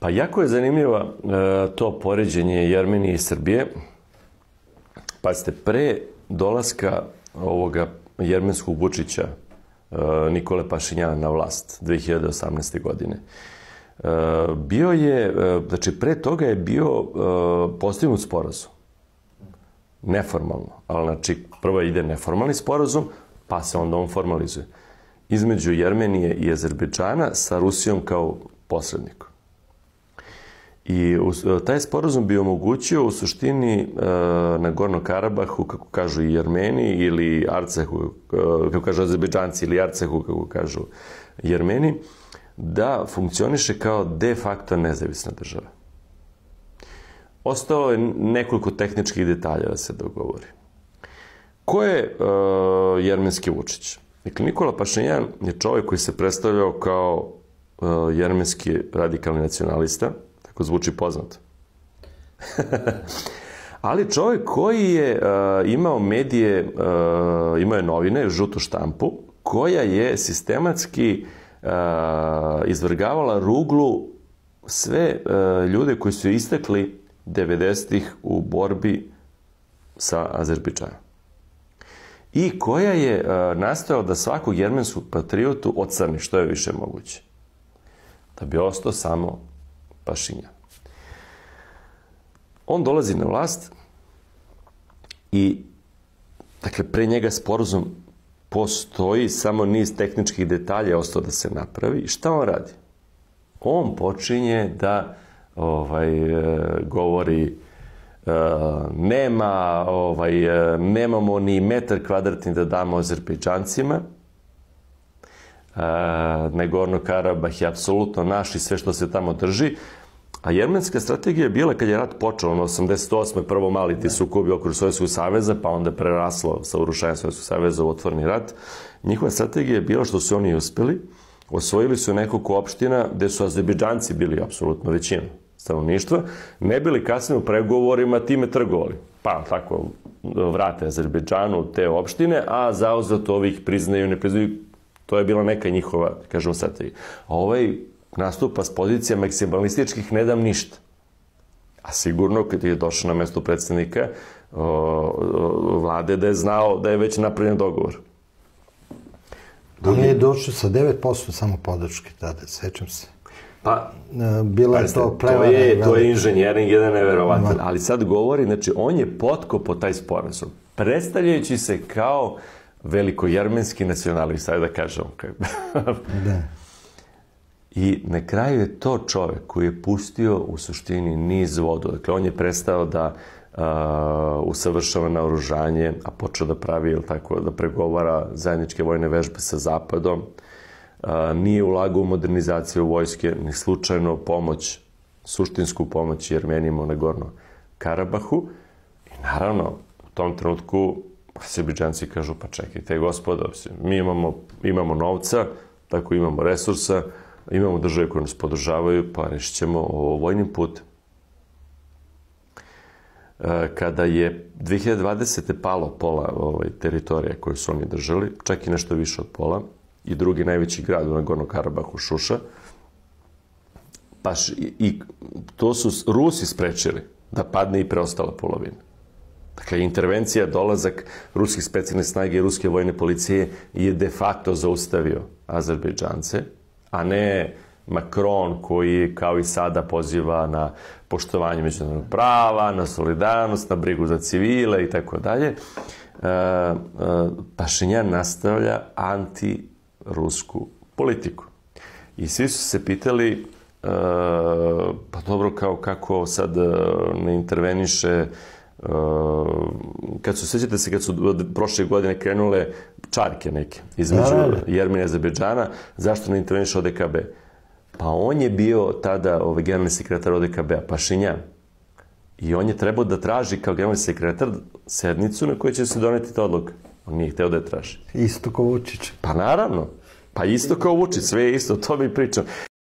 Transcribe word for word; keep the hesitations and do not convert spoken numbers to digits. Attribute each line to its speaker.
Speaker 1: Pa jako je zanimljivo to poređenje Jermenije i Srbije. Pazite, pre dolaska ovoga jermenskog Vučića, Nikole Pašinjana na vlast dve hiljade osamnaeste. godine, bio je, znači pre toga je bio postignut sporazum. Neformalno, ali znači prvo ide neformalni sporazum, pa se onda on formalizuje. Između Jermenije i Azerbejdžana sa Rusijom kao posrednikom. I taj sporazum bi omogućio u suštini na Gornom Karabahu, kako kažu i Jermeni, ili Arcehu, kako kažu Azerbejdžanci, ili Arcehu, kako kažu Jermeni, da funkcioniše kao de facto nezavisna država. Ostalo je nekoliko tehničkih detalja da se dogovori. Ko je jermenski Vučić? Dakle, Nikola Pašinjan je čovjek koji se predstavljao kao jermenski radikalni nacionalista, tako zvuči poznato. Ali čovjek koji je imao medije, imao je novine, žutu štampu, koja je sistematski izvrgavala ruglu sve ljude koji su istekli devedesetih u borbi sa Azerbejdžanom. I koja je nastojala da svakog jermenskog patriotu ocrni što je više moguće. Da bi ostao samo Pašinjan. On dolazi na vlast i, dakle, pre njega sporazum postoji, samo niz tehničkih detalja je ostao da se napravi. I šta on radi? On počinje da ovaj, govori nema, ovaj, nemamo ni metar kvadratni da damo Azerbejdžancima. Nagorno Karabah je apsolutno naš i sve što se tamo drži. A jermenska strategija je bila, kad je rat počeo, ono osamdeset osme prvo mali ti sukobi okolo Sovjetskog saveza, pa onda preraslo sa urušajem Sovjetskog saveza u otvoreni rat. Njihova strategija je bila, što su oni uspeli, osvojili su nekoliko opština gde su Azerbejdžanci bili apsolutno većina stanovništva, ne bili kasnije u pregovorima time trgovali. Pa tako vrate Azerbejdžanu te opštine, a zauzvrat ovih priznaju, ne priznaju. To je bila neka njihova, kažemo, strategija. A ovaj nastupa s pozicija maksimalističkih ne dam ništa. A sigurno, kad je došao na mesto predsednika vlade, da je znao da je već napravljen dogovor.
Speaker 2: On je došao sa devet posto samo podrške tada, sećam se.
Speaker 1: Pa,
Speaker 2: bila je to prevara.
Speaker 1: To je inženjering jedan neverovatan. Ali sad govori, znači, on je potkopao taj sporazum, predstavljajući se kao velikojermenski nacionalist, ajde da kažemo.
Speaker 2: Da.
Speaker 1: I na kraju je to čovjek koji je pustio u suštini niz vodu. Dakle, on je prestao da usavršava naoružanje, a počeo da pravi, ili tako, da pregovara zajedničke vojne vežbe sa Zapadom. Nije ulagao u modernizaciju vojske, ni slučajno pomoć, suštinsku pomoć Jermenima u Nagornom Karabahu. I naravno, u tom trenutku Azerbejdžanci kažu, pa čekajte, gospodo, mi imamo, imamo novca, tako imamo resursa, imamo države koje nas podržavaju, pa rešit ćemo ovo vojnim putem. Kada je dve hiljade dvadesete palo pola ovaj, teritorije koje su oni držali, čak i nešto više od pola, i drugi najveći grad u Nagornom Karabahu, Šuša, baš i, i to su Rusi sprečili da padne i preostala polovina. Dakle, intervencija, dolazak ruskih specijalnih snaga i ruske vojne policije je de facto zaustavio Azerbejdžance, a ne Macron koji, kao i sada, poziva na poštovanje međunarodnog prava, na solidarnost, na brigu za civile i tako dalje. Pašinjan nastavlja anti-rusku politiku. I svi su se pitali, pa dobro, kao kako sad ne interveniše, kad su, sećate se, kad su prošle godine krenule čarke neke između Jermenije i Azerbejdžana, zašto ne interveniše O D K B? Pa on je bio tada ovaj, generalni sekretar O D K B-a, Pašinjan. I on je trebao da traži kao generalni sekretar sednicu na kojoj će se doneti ta odluka. On nije hteo da je traži.
Speaker 2: Isto kao Vučić.
Speaker 1: Pa naravno. Pa isto kao Vučić, sve je isto, to mi pričam.